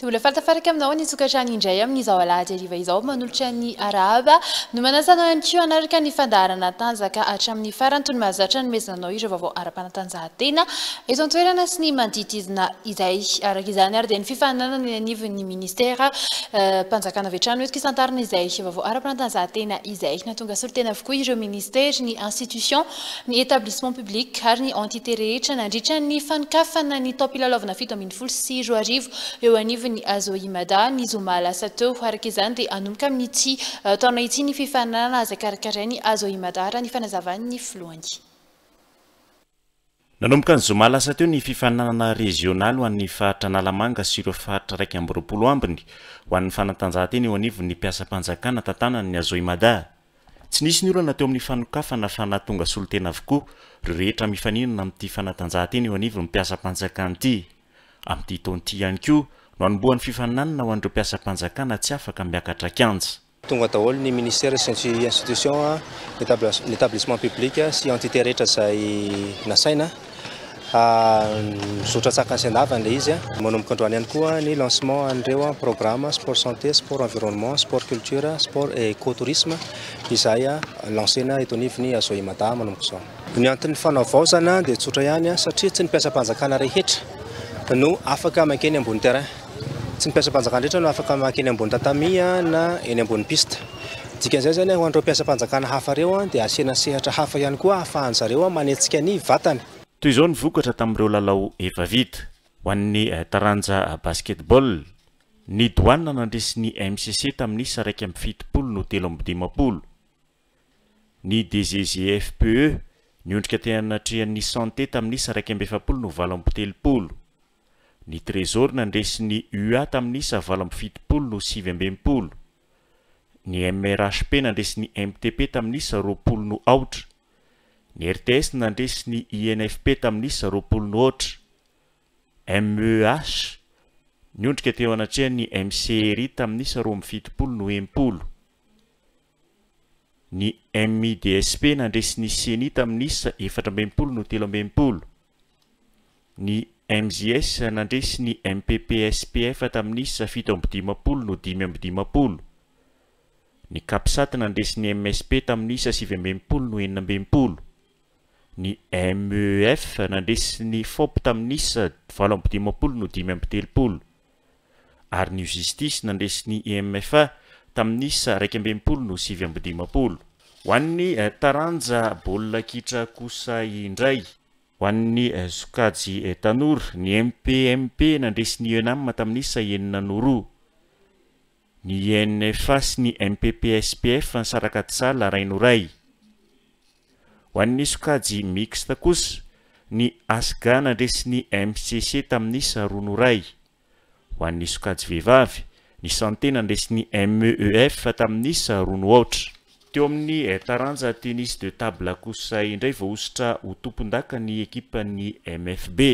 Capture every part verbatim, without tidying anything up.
Dia mbola falitafaraka aminao ny sokatrany indray amin'izao alahady hariva izao, manolotra ny arahaba no manasa anao ihany koa hanaraka ny fandaharana Tanjaka hatramin'ny farany, toy ny mahazatra nomezanao ireo vaovao ara-panatanjahantena eto an-toerana sy ny manodidina izay. Araka izany ary dia ny fifaninanana eny anivon'ny ministera mpanjakana avy hatrany hoentiko hisantarina izay vaovao ara-panatanjahantena izay. Nahatonga solontena avokoa ireo ministera, ny institution, ny établissement public ary ny entité rehetra nandritra ny fanokafana ny taom-pilalaovana fito ambin'ny folo sy roa arivo eo anivon'ny Azoimada ny zoma lasa teo. Araka izany dia hanomboka amin'ity taona ity ny fifaninanana izay karakarain'ny Azoimada, raha ny fanazavan'ny filohany. Nanomboka ny zoma lasa teo ny fifaninanana rezionaly ho an'ny faritra Analamanga sy ireo faritra iraika amby roapolo ambiny ho an'ny fanatanjahantena eo anivon'ny mpiasam-panjakana tantanan'ny Azoimada. Tsy nisy ny olana teo amin'ny fanokafana fa nahatonga solontena avokoa ireo rehetra mifaninana amin'ity fanatanjahantena eo anivon'ny mpiasam-panjakana ity. Amin'ity taona ity ihany koa no hanombohan'ny fifaninanana ho an'ireo mpiasam-panjakana tsy afaka miakatra kianja. Tonga daholo ny ministère sy ny institution, ny établissement public sy entité rehetra izay nasaina. Mizotra tsakany sy andavany ilay izy. Manomboka androany ihany koa ny lancement an'ireo programme sport santé, sport environnement, sport culture, sport et écotourisme izay lancena eto anivon'ny Azoimada manomboka izao. Ny anton'ny fanavaozana dia tsotra ihany, satria tsy ny mpiasam-panjakana rehetra no afaka mankeny ambony terrain. Tsy ny mpiasam-panjakana rehetra no afaka mankeny ambony tatami na eny ambony piste. Dikan'izay zany, ho an'ireo mpiasam-panjakana hafa ireo dia asiana sehatra hafa ihany koa ahafahan zareo manetsika ny vatany. Toy izao ny vokatra tamin'ireo lalao efa vita. Ho an'ny taranja basketball, ny Douane nandresy ny M C C tamin'ny isa iraika amby fitopolo no telo amby dimampolo. Ny D G G F P E niondrika teo anatrehan'ny Santé tamin'ny isa iraika amby efapolo no valo amby telopolo. Ny Trésor nandresy ny U A tamin'ny isa valo amby fitopolo no sivy amby enimpolo. Ny M R H P nandresy ny M T P tamin'ny isa roapolo no aotra. Ny R T S nandresy ny I N F P tamin'ny isa roapolo no aotra. M E H niondrika teo anatrehan'ny M C R I tamin'ny isa roa amby fitopolo no enimpolo. Ny M I D S P nandresy ny C E N I tamin'ny isa efatra amby enimpolo no telo amby enimpolo. Ny M J S nandresy ny M P P S P F tamin'ny isa fito amby dimampolo no dimy amby dimampolo. Ny Capsat nandresy ny M S P tamin'ny isa sivy amby enimpolo no enina amby enimpolo. Ny M E F nandresy ny F O P tamin'ny isa valo amby dimampolo no dimy amby telopolo. Ary ny Justice nandresy ny I M F A tamin'ny isa iraika amby enimpolo no sivy amby dimampolo. Ho an'ny taranja baolina kitra kosa indray, ho an'ny sokajy tanora, ny M P M P nandresy ny ENAM tamin'ny isa enina no roa. Ny I N F A sy ny M P P S P F nisaraka tsala iray no iray. Ho an'ny sokajy mixte kosa, ny ASGA nandresy ny M C C tamin'ny isa roa no iray. Ho an'ny sokajy vehivavy, ny Santé nandresy ny M E E F tamin'ny isa roa no aotra. Teo amin'ny taranja tennis de table kosa indray, voahosotra ho tompon-daka ny ekipan'ny M F B.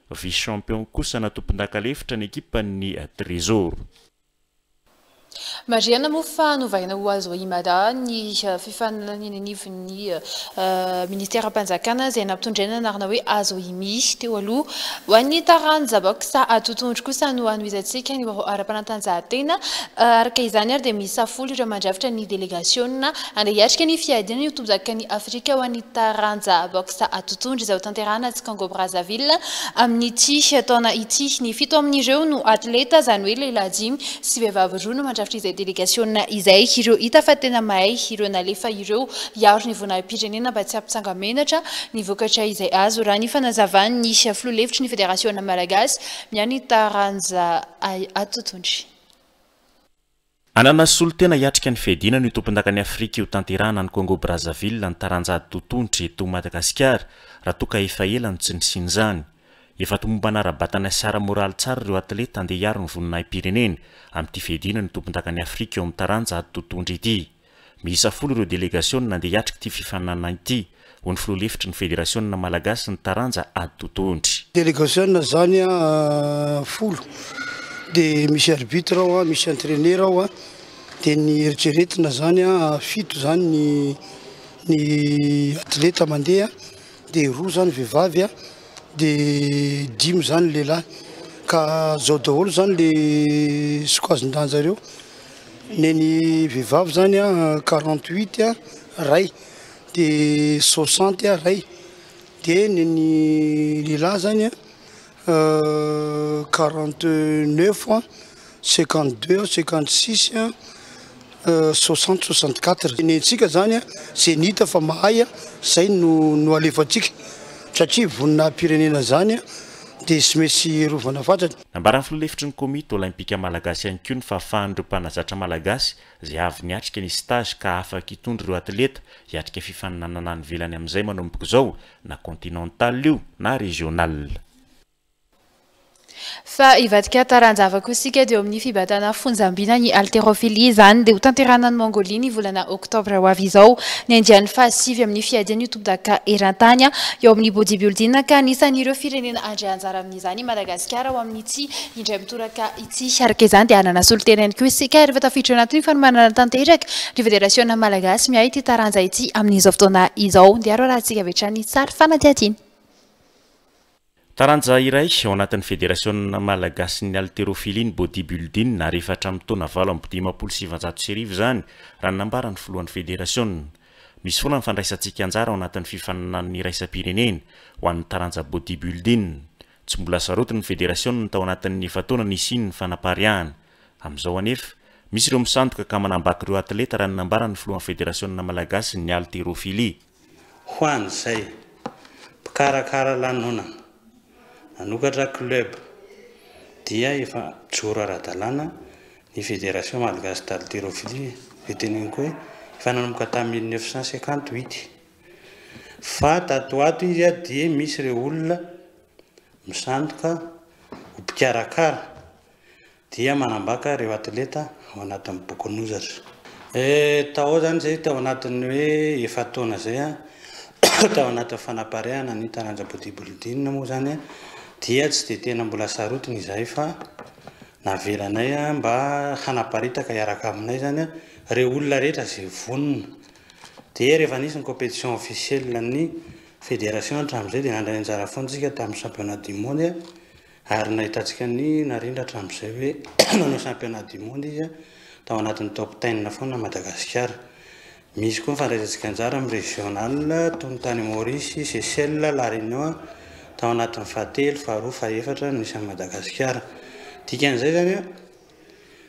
Vice champion kosa na tompon-daka lefitra ny ekipan'ny Trésor. Marihana moa fa novaina ho Azoimada ny fifaninanana eny anivon'ny ministeram-panjakana izay nampitondraina anarana hoe Azoimi teo aloha. Ho an'ny taranja boxe totohondry kosa no hanohizantsika ny vaovao ara-panatanjahantena. Araka izany ary dia miisa folo ireo mandrafitra ny délégation andeha hiatrika ny fiadiana io tompondakan'ny Afrika ho an'ny taranja boxe totohondry izay ho tanterahana atsy Congo Brazzaville amin'ity taona ity. Ny fito amin'ireo no atleta, izany hoe lehilahy dimy sy vehivavy roa no mandrafitra izay délégation izay. Ireo hita fa tena mahay ireo nalefa ireo hiaro ny voninahim-pirenena mba tsy hampitsanga-menatra ny vokatra izay azo, raha ny fanazavan'ny filoha lefitry ny fédération malagasy miany taranja totohondry. Anana solontena hiatrika ny fiadiana ny tompon-dakan'ny Afrika io tanterahana ny Congo Brazzaville ny taranja totohondry eto Madagasikara, raha toka efa ela no tsy nisiany izany. Efa tomombana ara-batana sy ara-moraly tsara ireo atleta andeha hiaro ny voninahim-pirenena amin'ity fiadiana ny tompon-dakan'ny Afrika eo amin'ny taranja totohondry ity. Miisa folo ireo délégation nandeha hiatrika ity fifaninanana ity, ho ny filoha lefitry ny fédération malagasy ny taranja ady totohondry. Délégation zany a folo, de misy arbitre ao a, misy entraîneur ao a, de ny eritreretina zany a fito zany ny ny atleta mandeha, de roa zany vehivavy a, de dimy zany lehilahy. Ka zao daholo zany le sokajin-danja reo. Neny vehivavy zany a quarante-huit a ray, de soixante a ray, de neny lehilahy zany a quarante-neuf a, cinquante-deux, cinquante-six a, soixante, soixante-quatre. Nentsika zany a zay nita fa mahay a zay no no alefantsika satria voninahi-pirenena zany a de sy maintsy rovana fatratra. Nambaran'ny filoha lefitry ny Komity Olympika Malagasy ihany koa ny fahafahan'ireo mpanazatra malagasy izay avy niatrika ny stage ka afaka hitondra ireo atleta hiatrika fifaninanana any ivelany amin'izay manomboka izao, na continental io na régional. Fa hivadika taranja koa isika, dia eo amin'ny fibatana fonjambina ny haltérophilie izany, dia ho tanterahana any Mongolia ny volana oktobra ho avy izao ny andiany fahasivy amin'ny fiadiana io tompondaka eran-tany eo amin'ny bodybuilding, ka anisan'ireo firenena andray anjara amin'izany Madagasikara ho amin'ity indray mitoraka ity. Araka izany dia hanana solontena ihany koa isika rehefa tafiditra ao anatin'ny fanomanana tanteraka ny federasiona malagasy miahy ity taranja ity amin'izao fotoana izao. Dia aro rahantsika avy hatrany sary fanadihadiana. Taranja iray ao anatin'ny federasiona malagasy ny haltérophilie ny bodybuilding, ary efa hatramin'ny taona valo amby dimampolo sy sivanjato sy arivo izany raha ny nambaran'ny filohan'ny federasiona. Misy foana ny fandraisantsika anjara ao anatin'ny fifaninanana iraisam-pirenena ho an'ny taranja bodybuilding. Tsy mbola sarotiny ny federasiona tao anatin'ny efa-taona nisian'ny fanapariahana. Amin'izao anefa misy ireo misandoka ka manambaka ireo atleta raha ny nambaran'ny filohan'ny federasiona malagasy ny haltérophilie. Ho an'izay mpikarakara lanonana nanokatra club dia efa joro ara-dalàna ny fédération malagasy d'haltérophilie. Teneniko hoe efa nanomboka tamin'ny mille neuf cent cinquante-huit, fa tato ato izy a dia misy ireo olona misandoka ho mpikarakara dia manambaka ireo atleta ao anatin'ny bokin'ozatra. Tao zany zay tao anatin'ny hoe efa-taona zay a tao anatin'ny fanapariahana ny taranja bodybuilding moa zany dia tsy de tena mbola sarotiny izahay, fa navelanay a mba hanaparitaka hiaraka aminay zany ireo olona rehetra izay vonona. Dia rehefa nisy ny compétition officielle ny fédération hatramin'izay dia nandray anjara foana isika tamin'ny championnat du monde, ary nahitantsika ny narindra hatramin'izay hoe nanao championnat du monde izy tao anatin'ny top ten foana Madagasikara. Misy koa ny fandraisantsika anjara amin'ny régional toy ny tany Maurice, Seychelles, La Réunion, tao anatin'ny fahatelo, faharoa, fahaefatra nisy an'i Madagasikara. Dikan'izay zany a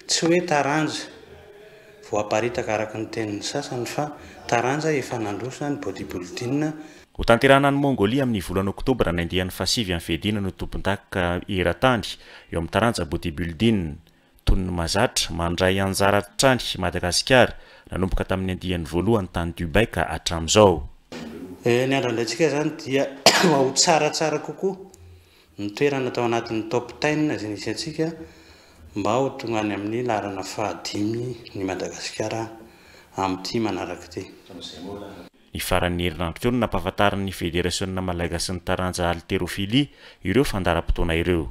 tsy hoe taranja voaparitaka araka ny tenin'ny sasany, fa taranja efa nandroso ny bodybuilding. Ho tanterahana any Mongolia amin'ny volana oktobra ny andiany fahasivy amin'ny fiadiana no tompondaka eran-tany eo amin'ny taranja bodybuilding. Toy ny mahazatra, mandray anjara hatrany Madagasikara nanomboka tamin'ny andiany voalohany tany Dubai ka hatramin'izao. Ny andro-andraintsika zany dia ho tsaratsara kokoa ny toerana tao anatin'ny top ten izay nisy antsika mba ho tonga any amin'ny laharana fahadimy ny Madagasikara amin'ity manaraka ity. Ny faran'ny herinandro teo no nampahafantarin'ny federasiona malagasy ny taranja haltérophilie ireo fandaharam-potoana ireo.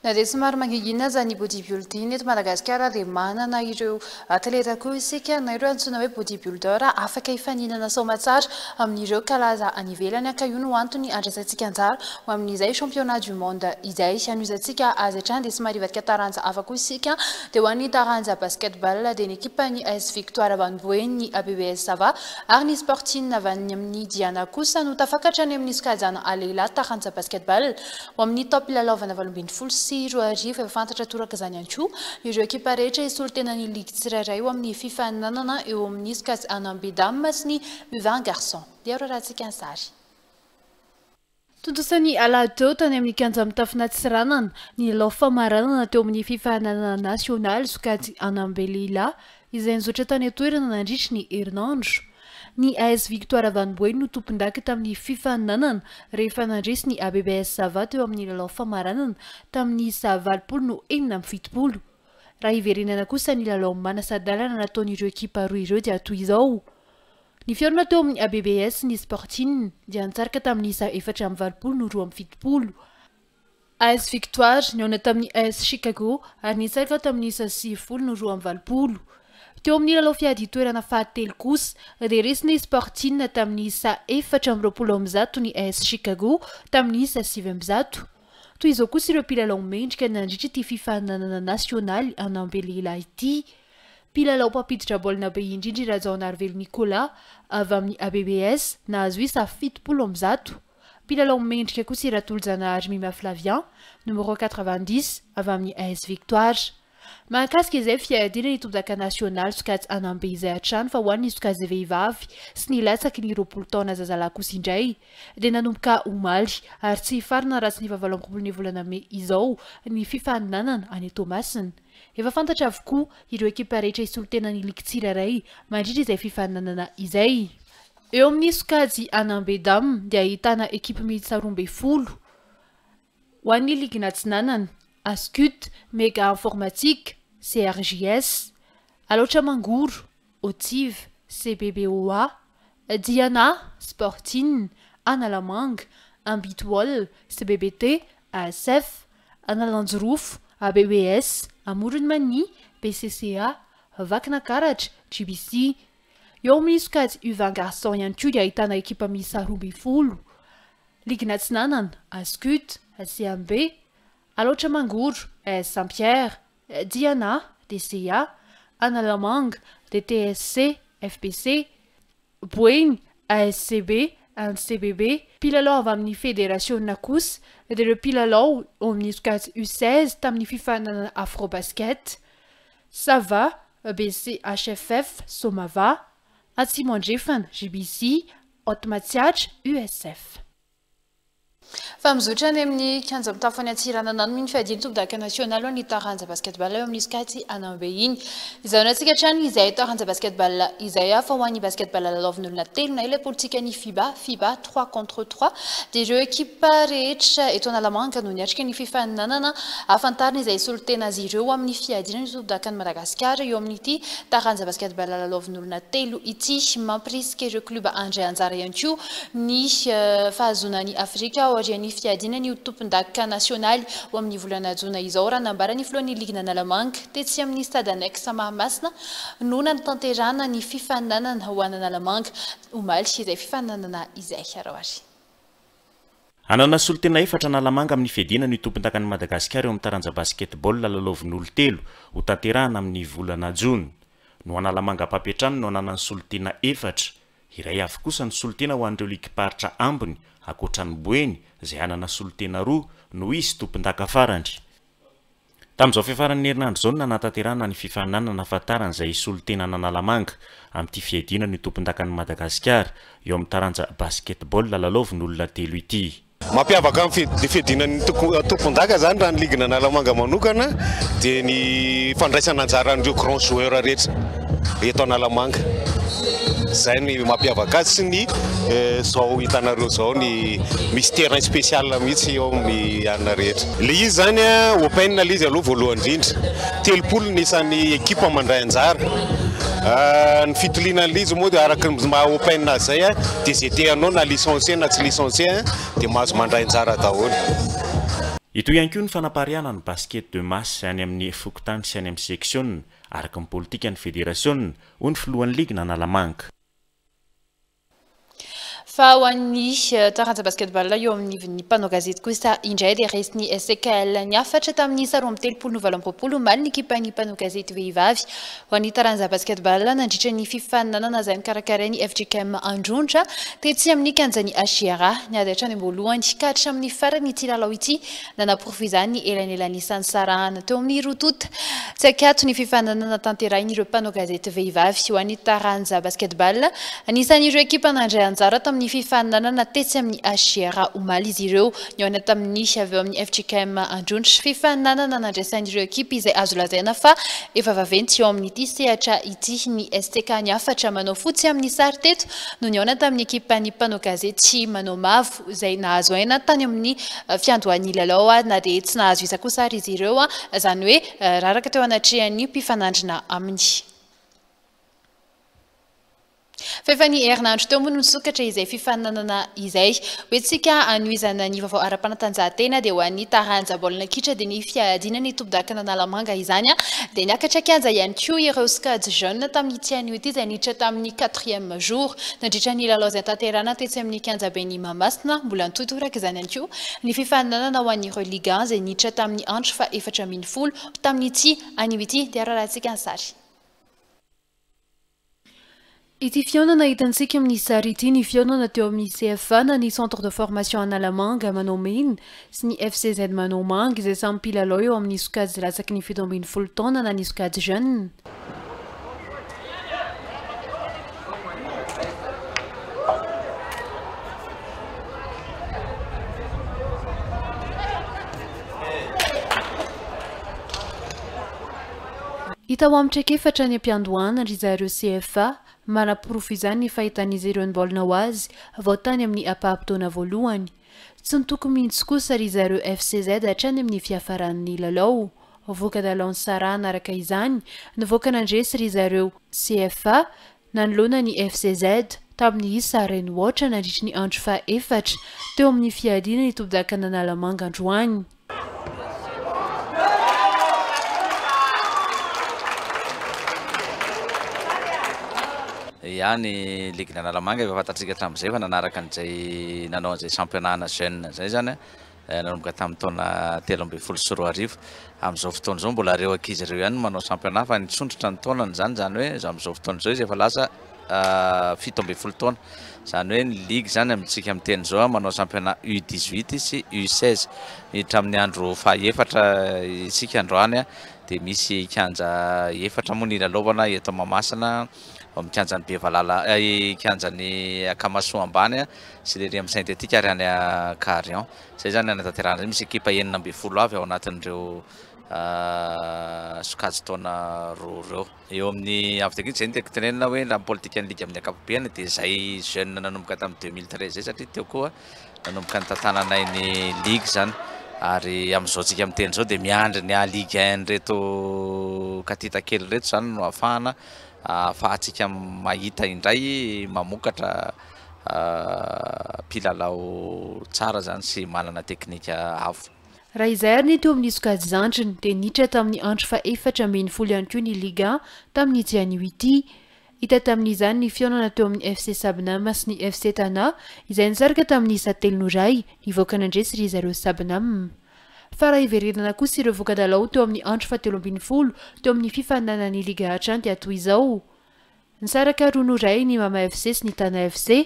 Na dia somary mangingina aza ny bodybuilding eto Madagasikara dia manana ireo atleta koa isika na ireo antsoina hoe bodybuilder afaka hifaninana soamatsara amin'ireo kalaza any ivelany, ka io no antony andraisantsika anjara ho amin'izay championnat du monde izay. Hanohizantsika azy hatrany dia somary hivadika taranja hafa koa isika, dia ho an'ny taranja basketball dia ny ekipan'ny A S Victoire avy any Boeny, ny A B B S Sava ary ny Sporting avy any amin'ny Diana kosa no tafakatra any amin'ny sokajy A lehilahy taranja basketball ho amin'ny taom-pilalaovana valo ambin'ny folo sy roa arivo. Efa fantatra toraka izany ihany koa ireo ekipa rehetra hisolo tena ny ligy tsirairay eo amin'ny fifaninanana eo amin'ny sokajy A B dame sy ny U vingt garçon. Dia ro rahantsika ny sary. Tontosa ny alahady teo tany amin'ny kianja mitafo Antsiranana ny lalao famaranana teo amin'ny fifaninanana nasionaly sokajy A B lehilahy izay nizotra tany an-toerana nandritry ny herinandro. Ny A S Victoire avy any Boeny no tompondaka tamin'ny fifaninanana rehefa nandresy ny A B B S Sava teo amin'ny lalao famaranana tamin'ny isa valopolo no enina amby fitopolo. Raha iverenana kosa ny lalao manasa-dalana nataon'ireo ekipa roa ireo dia toy izao: ny fihaonana teo amin'ny A B B S ny Sporting dia nitsaraka tamin'ny isa efatra amby valopolo no roa amby fitopolo. A S Victoire nihaona tamin'ny A S Chicago ary nitsaraka tamin'ny isa sivifolo no roa amby valopolo. Teo amin'ny lalao fiady toerana fahatelo kosa dia resy ny Sporting tamin'ny isa efatra amby roapolo amby zato ny A S Chicago tamin'ny isa sivy amby zato. Toy izao kosa ireo mpilalao mendrika nandritra ity fifaninanana nasionaly anambe lehilahy ity. Mpilalao mpampiditra baolina be indrindra i Rajaonarivelo Nicolas avy amin'ny A B B S, nahazo isa fitopolo amby zato. Mpilalao mendrika kosa i Ratolojanahary Mima Flavien, numéro quatre-vingt-dix, avy amin'ny A S Victoire. Mahakasika izay fiadiana ny tompondaka nasionaly sokajy anambe izay hatrany, fa ho an'ny sokajy vehivavy sy ny latsaky ny roapolo taona zazalahy kosa indray dia nanomboka omaly ary tsy hifarana raha tsy ny fahavalo amby roapolo ny volana mey izao ny fifaninanana any Toamasina. Efa fantatra avokoa ireo ekipa rehetra hisolo-tena ny ligy tsirairay mandritra izay fifaninanana izay. Eo amin'ny sokajy anambe dames dia ahitana ekipa miisa roa amby folo. Ho an'ny ligina Atsinanana: Ascut, Mega Informatique, C R J S, Alaotra Mangoro, Otive, C B B O A, Diana, Sportine, Analamanga, Ambitwall, C B B T, A S F, Analanjirofo, A B B S, Amoron'i Mania, B C C A, Vakinankaratra, G B C. Eo amin'ny sokajy U vingt garçon ihany koa dia ahitana ekipa miisa roa amby folo. Ligina Atsinanana: Ascut, C M B, Alaotra Mangoro, A S Saint Pierre, Diana, D C A, Analamanga, D T S C, F B C, Boeny, A S C B, N C B B. Mpilalao avy amin'ny federasiona kosa dia ireo mpilalao eo amin'ny sokajy U seize tamin'ny fifaninanana Afrobasket: Sava, B C H F F, Somava, Atsimo Andrefana, G B C, Haute Matsiatra, U S F. Fa mizotra any amin'ny kianja mitafo any Antsiranana ny fiadiana tompondaka nasionaly ho an'ny taranja basketball eo amin'ny sokajy anambe iny. Izao antsika hatrany izay taranja basketball izay, fa ho an'ny basketball lalaovin'olona telo na ilay politika ny FIBA, FIBA trois contre trois, dia ireo ekipa rehetra eto Analamanga no niatrika ny fifaninanana ahafantarina izay solontena azy ireo amin'ny fiadiana ny tompondakan'i Madagasikara eo amin'ity taranja basketball lalaovin'olona telo ity. Mampirisika ireo club andray anjara ihany koa ny fahazoana ny Afrika aorian'ny fiadiana ny tompondaka nasionaly ho amin'ny volana jona izao, raha nambara ny filohan'ny ligina Analamanga. Tetsy amin'ny stade annexe Mahamasina no nanatanterahana ny fifaninanana ho an'Analamanga omaly izay fifaninanana izay arahoary. Hanana solontena efatra Analamanga amin'ny fiadiana ny tompondakan'i Madagasikara eo amin'ny taranja basketball lalaovin'olo telo ho tanterahana amin'ny volana jona. No Analamanga mpampiantrano no ananany solontena efatra, iray avy kosa ny solontena ho an'ireo ligim-paritra ambiny ankoatran'ny Boeny izay hanana solontena roa no izy tompondaka farany. Tamin'izao fiafaran'ny herinandro izao no nanatanterahana ny fifaninanana ahafantarana izay solontena an'Analamanga amin'ity fiadiana ny tompondakan'i Madagasikara eo amin'ny taranja basketball lalaovin'olona telo ity. Mampiavaka ny fiadiana tompondaka zany raha ny ligina Analamanga manokana dia ny fandraisana anjaran'ireo grand joueur rehetra eto Analamanga. Zay ny mampiavaka azy sy ny zao hitanareo zao, ny misy terrain spécial mihitsy eo amin'ny anina rehetra. Le izy zany a open le izy aloha voalohany indrindra, telopolo ny isan'ny ekipa mandray anjara. Ny fitiliana an'le izy moa dia araka ny maha open azy zay a dia zay te hanao, na licencié na tsy licencié, dia mahazo mandray anjara daholo. Ito ihany koa ny fanapariahana ny basket de masse any amin'ny fokontany sy any amin'ny section araka ny politika ny federasiona, hoy ny filohan'ny ligina Analamanga. Fa ho an'ny taranja basketball eo amin'ny mpanao gazety kosa indray dia resin'ny S C K L Niafatra tamin'ny isa roa amby telopolo no valo amby roapolo omaly ny ekipan'ny mpanao gazety vehivavy ho an'ny taranja basketball nandritra ny fifaninanana izay nokarakarain'ny F J K M Androndra tetsy amin'ny kianjan'ny H I R A. Niady hatrany am-boalohany ka hatramin'ny farany ity lalao ity, nanaporofo izany ny elanelan'isan'ny sarahana teo amin'ny roa tonta. Tsy akato ny fifaninanana tanterahin'ireo mpanao gazety vehivavy ho an'ny taranja basketball. Anisan'ireo ekipa nandray anjara tamin'ny fifaninanana tetsy amin'ny H I R A omaly izy ireo, nihaona tamin'ny avy eo amin'ny F J K M Androndra. Fifaninanana nandraisan'ireo ekipa izay azo lazaina fa efa vaventy eo amin'ity sehatra ity. Ny S T K Niafatra manao fotsy amin'ny sary teto no nihaona tamin'ny ekipan'ny mpanao gazety manao mavo izay nahazo aina tany amin'ny fiandohan'ny lalao, na dia tsy nahazo isa kosa ary izy ireo, izany hoe raraka teo anatrehan'ny mpifanandrina aminy. Fa efa ny herinandro teo moa no nisokatra izay fifaninanana izay. Hoentsika anohizana ny vaovao ara-panatanjahantena dia ho an'ny taranja baolina kitra dia ny fiadiana ny tompon-dakana Analamanga izany dia niakatra kianja ihany koa ireo sokajy jeune tamin'ity anio ity izay niditra tamin'ny quatrième jour nandritra ny lalao izay tanterahina tetsy amin'ny kianjaben'i Mahamasina. Mbola nitohy toraka izany ihany koa ny fifaninanana ho an'ireo Ligue un izay niditra tamin'ny andro fa efatra ambin'ny folo tamin'ity anio ity. Dia arahantsika ny sary. Ity fihaonana hitantsika amin'ny sary ity ny fihaonana teo amin'ny C F A na ny Centre de Formation Analamanga manao mena sy ny F C Z manao manga izay samy mpilalao eo amin'ny sokajy latsaky ny fito ambin'ny folo taona na ny sokajy jeune. Hita ho amin'ny traikefatra ny am-piandohana ry zareo C F A, manaporofo izany ny fahitan'izy ireo ny baolina ho azy vao tany amin'ny ampaham-potoana voalohany. Tsy nitoko mihitsy kosa ry zareo F C Z hatrany amin'ny fiafaran'ny lalao. Voka-dalao nisarahana araka izany nivoaka nandresy ry zareo C F A nanoloana ny F C Z tamin'ny isa iray no aotra nandritry ny andro faha efatra teo amin'ny fiadiana ny tompon-dakana Analamanga androany. Ia, ny ligue Analamanga efa fantatsika hatramin'izay fa nanaraka an'izay nanao an'izay championnat jeune zay zany nanomboka tamin'ny taona telo ambin'ny folo sy roa arivo. Amin'izao fotoana izao mbola reo ankizy ireo ihany manao championnat fa nisondrotra ny taonany zany, zany hoe amin'izao fotoana izao izy efa lasa fito ambin'ny folo taona. Zany hoe ny ligue zany amintsika miteny izao manao championnat U dix-huit sy U seize. Miditra amin'ny andro fahaefatra isika androany a dia misy kianja efatra moa ny ilalaovana eto Mahamasina, amin'ny kianjan'ny Bevalala, kianjan'ny Akamasoa ambany a sy le ry amin'ny synthétique ary any Carion. Zay zany anatanterahana zay, misy ekipa enina ambin'ny folo avy ao anatin'ireo sokajy taona roa ireo. Eo amin'ny avy teknika zay no tiako tenenina hoe raha ny politikan'ny ligue amin'ny ankapobeny dia zay jeune nanomboka tamin'ny deux mille treize zay, satria teo koa nanomboka ny tantananay ny ligue zany. Ary amin'izao tsika miteny izao dia miandry ny A Ligue un reto katita kely reto zany no ahafahana ahafahantsika mahita indray mamokatra mpilalao tsara zany sy manana teknika avo. Raha izay ary ny teo amin'ny sokajy zandriny dia niditra tamin'ny andro fa efatra ambin'ny folo ihany koa ny Ligue un tamin'ity anio ity. Hita tamin'izany ny fihaonana teo amin'ny F C Sabnam sy ny F C Tana izay nisaraka tamin'ny isa telo no iray, nivoaka nandresy ry zareo Sabnam. Fa raha hiverenana kosa ireo voka-dalao teo amin'ny andro fahatelo ambin'ny folo teo amin'ny fifaninanana ny Ligue hatrany dia toy izao: nisaraka roa no iray ny Mama F C sy ny Tana F C,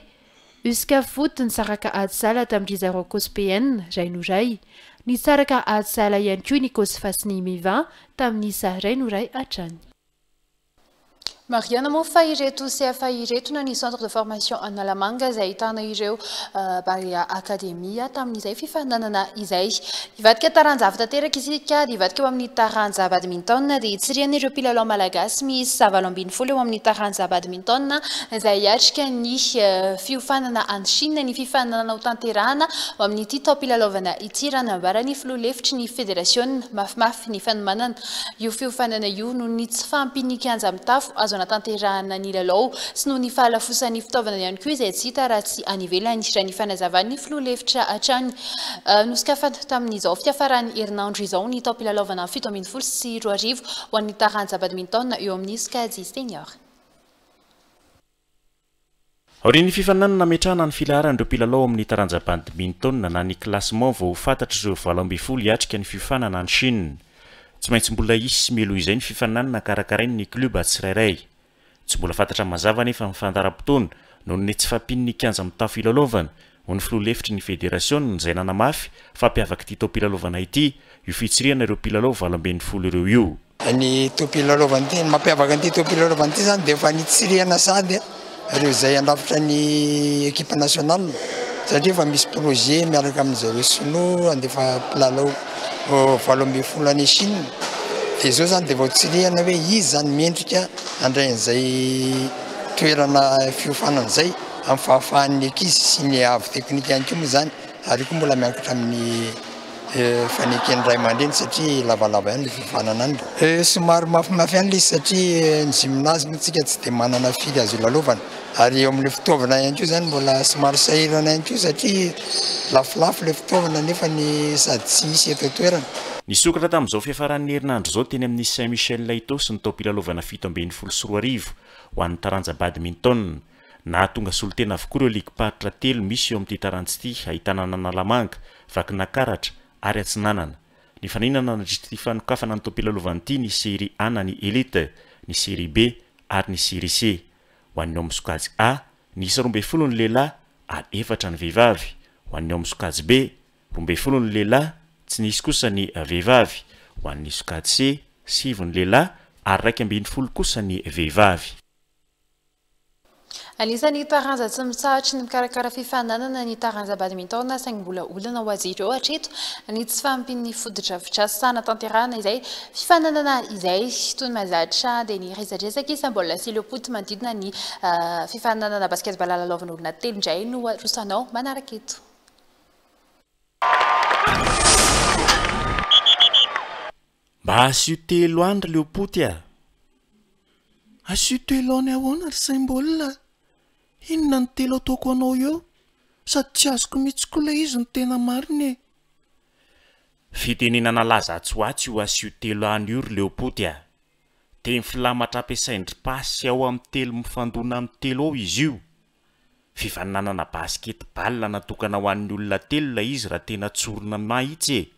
Usca Foot nisaraka ady sahala tamin'ny zareo C O S P N iray no iray, nisaraka ady sahala ihany koa ny Cosfa sy ny Mivin tamin'ny isa iray no iray hatrany. Marihana moa fa ireto C F A ireto na ny Centre de Formation Analamanga izay ahitana ireo Barea Academia tamin'izay fifaninanana izay. Hivadika taranja hafa tanteraka isika, dia hivadika eo amin'ny taranja badminton, dia hitsirian'ireo mpilalao malagasy miisa valo ambin'ny folo eo amin'ny taranja badminton izay hiatrika ny fiofanana any Chine ny fifaninanana ho tanterahana ho amin'ity taom-pilalaovana ity, raha nambaran'ny filoha lefitry ny fédération. Mafimafy ny fanomanana io fiofanana io noho ny tsy fahampian'ny kianja mitafo azo anatanterahana ny lalao sy noho ny fahalafosan'ny fitaovana ihany koa izay tsy hita raha tsy any ivelany, raha ny fanazavan'ny filoha lefitra hatrany. Nosokafana tamin'izao fiafaran'ny herinandro izao ny taom-pilalaovana fito ambin'ny folo sy roa arivo ho an'ny taranja badminton eo amin'ny sokajy senior. Aorian'ny fifaninanana nametrahana ny filaharan'ireo mpilalao amin'ny taranja badminton na ny classement vao fantatra ireo valo ambin'ny folo hiatrika ny fiofanana any Chine. Tsy maintsy mbola hisy mialoha izay ny fifaninanana karakarain'ny club tsirairay. Tsy mbola fantatra mazava nefa ny fandaharam-potoana noho ny tsy fahampian'ny kianja mitafo ilalaovana, ho ny filoha lefitry ny fédération izay nanamafy fa hampiavaka ity taom-pilalaovana ity io fitsirihana ireo mpilalao valo ambin'ny folo ireo io. Ny taom-pilalaovana ity, ny mampiavaka an'ity taom-pilalaovana ity zany dia efa nitsirihana sady ireo izay handrafitra ny équipe nationale, satria efa misy projet miaraka amin'zareo sinoa andefa mpilalao valo ambin'ny folo any Chine. Dia zao zany dia vao tsirihana hoe izy zany mendrika handray an'izay toerana fiofanana izay amin'ny fahafahan'ny ankizy sy ny avo teknika ihany koa moa zany, ary koa mbola miankitra amin'ny faneken'ny ray aman-dreny satria lavalava ihany le fiofanana any. Somary mafimafy ihany le izy satria ny gymnase moa tsika tsy dia manana firy azo ilalaovana, ary eo amin'le fitaovana ihany koa zany mbola somary sahirana ihany koa satria lafolafo le fitaovana nefa ny sady tsy hisy eto an-toerana. Nisokatra tamin'izao fiafaran'ny herinandro izao teny amin'ny Saint Michel Itaosy ny taom-pilalaovana fito ambin'ny folo sy roa arivo ho an'ny taranja badminton. Nahatonga solontena avokoa ireo ligim-paritra telo misy eo amin'ity taranja ity, ahitana an'Analamanga, Vakinankaratra ary Atsinanana. Nifaninana nandritra ity fanokafana ny taom-pilalaovana ity ny série A na ny élite, ny série B ary ny série C. Ho an'ny ao amin'ny sokajy A, nisy roa ambin'ny folo ny lehilahy ary efatra ny vehivavy. Ho an'ny ao amin'ny sokajy B, roa ambin'ny folo ny lehilahy, tsy nisy kosa ny vehivavy. Ho an'ny sokajy C, sivy ny lehilahy ary iraika ambin'ny folo kosa ny vehivavy. Anisan'ny taranja tsy mitsahatry ny mikarakara fifaninanana ny taranja badminton, saingy mbola olana ho azy ireo hatreto ny tsy fahampian'ny fotodrafitrasa hanatanterahana izay fifaninanana izay. Toy ny mahazatra dia ny resadresaka isam-baolina sy leopoty manodidina ny fifaninanana basketball lalaovin'olona telo indray no arosanao manaraka eto. Mba asio telo any ry leopoty a! Asio telo any ahoana ry saim-baolina? Inona ny telo ataoko anao eo? Sady tsy azoko mihitsy koa ilay izy no tena marina e. Fitenenana laza atsy ho atsy io asio telo any io ry leopoty a! Teny filamatra ampiasain-dry pasy ao amin'ny telo mifandona amin'ny telo ao izy io. Fifaninanana basketball natokana ho an'ny olona telo ilay izy raha tena tsorina mahitsy e.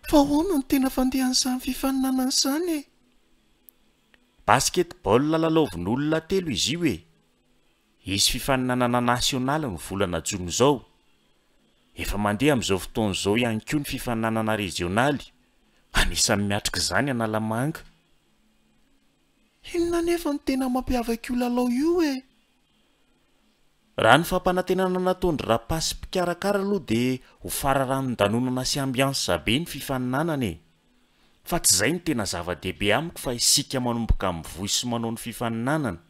Fa ahoana no tena fandehan'izany fifaninanana izany e? Basketball lalaovin'olona telo izy io e. Hisy fifaninanana nasionaly ny volana jona izao. Efa mandeha amin'izao fotoana izao ihany koa ny fifaninanana rezionaly. Anisan'ny miatrika izany Analamanga. Inona nefa no tena mampiavaka io lalao io e? Raha ny fampanantenana nataon-dry rapasy mpikarakara aloha dia ho fararanon-danonana sy ambiance be ny fifaninanana e. Fa tsy izay no tena zava-dehibe amiko fa isika manomboka mivoy sy manao ny fifaninanana.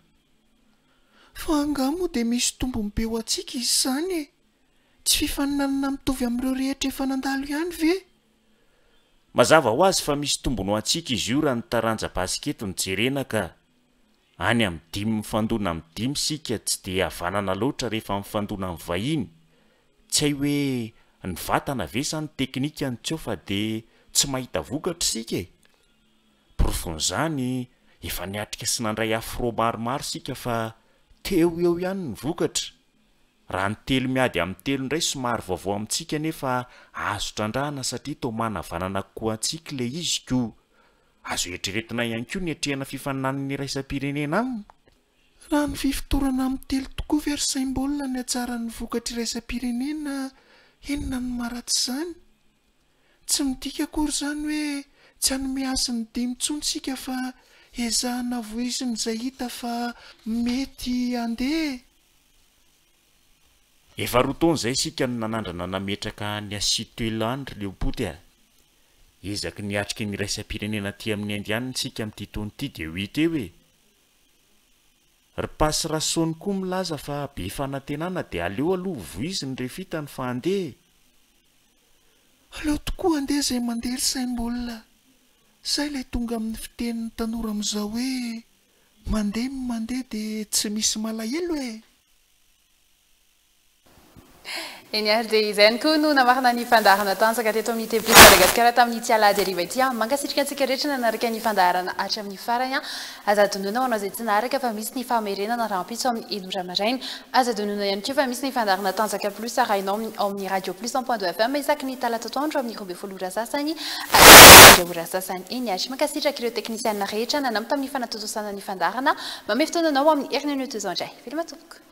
Fa angaha moa dia misy tombony be ho antsika izy izany e? Tsy fifaninanana mitovy amin'ireo rehetra efa nandalo ihany ve? Mazava ho azy fa misy tombony ho antsika izy io raha ny taranja basikety no jerena ka. Any amin'ny dimy mifandona amin'ny dimy isika tsy dia havanana loatra rehefa mifandona amin'ny vahiny. Tsy hay hoe ny vatana ve sa ny teknika no tsy eo fa dia tsy mahita vokatra isika e. Porofon'izany efa niatrika sy nandray afro maromaro isika fa teo eo ihany ny vokatra. Raha ny telo miady amin'ny telo indray somary vaovao amintsika nefa azo trandrahana satria toa manavanana kokoa antsika ilay izy koa. Azo eritreretina ihany koa ny atrehana fifaninanana iraisam-pirenena aminy. Raha ny fifotorana amin'ny telo tokoa ve ry saim-baolina ny hatsaran'ny vokatra iraisam-pirenena, inona no maharatsy izany? Tsy midika akory izany hoe tsy hanome azy ny dimy intsony isika fa ezahana voizina izay hita fa mety handeha. Efa roa taona izay isika no nanandrana nametraka ny asio telo any ry leopoty a. Ezaky ny atrika ny iraisam-pirenena aty amin'ny Indianina isika amin'ity taona ity dia ho hita eo e. Ry Pasy Rasony koa milaza fa be fanantenana dia aleo aloha voiziny rehefa hitany fa handeha. Aleo tokoa handeha izay mandeha ry saim-baolina. Izay ilay tonga amin'ny fitenin'ny tanora amin'izao hoe mandeha ny mandeha dia tsy misy malahelo e. Eny ary dia izay ihany koa no namarana ny fandaharana tanjaka teto amin'ny T Plus Madagasikara tamin'ny ity alahady hariva ity. Mankasitraka antsika rehetra nanaraka ny fandaharana hatramin'ny farany. Aza adinoina ho anao izay tsy naharaka fa misy ny famerenana rahampitso amin'ny enina ora maraina. Aza adinoina ihany koa fa misy ny fandaharana tanjaka plus arahinao ao amin'ny Radio Plus cent point deux F M isaky ny talata atoandro amin'ny roa ambin'ny folo ora sasany ary ora sasany. Eny ary mankasitraka ireo teknisianina rehetra nanampy tamin'ny fanatontosana ny fandaharana. Mamehy fotoana anao amin'ny herinandro toy izao indray. Veloma tompoko.